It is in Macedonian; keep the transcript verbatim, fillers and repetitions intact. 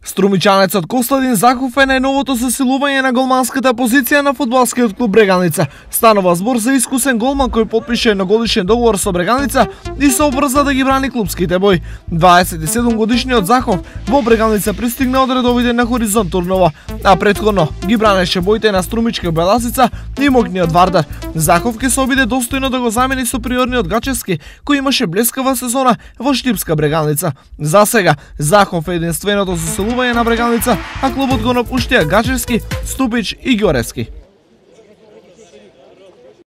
Струмичанецот Костадин Захов е најновото засилување на голманската позиција на фудбалскиот клуб Брегалница. Станува збор за искусен голман кој потпише едногодишен договор со Брегалница и се обрза да ги брани клубските бои. дваесет и седум годишниот Захов во Брегалница пристигна од редовите на Хоризонт Турново, а претходно ги бранеше боите на Струмичка Беласица и Могниот Вардар. Захов ќе се обиде достојно да го замени суприорниот Гачевски, кој имаше блескава сезона во Штипска Брегалница. За сега Захов е единственото засилување на Брегалница, а клубот го напуштија Гачевски, Ступич и Ѓоревски.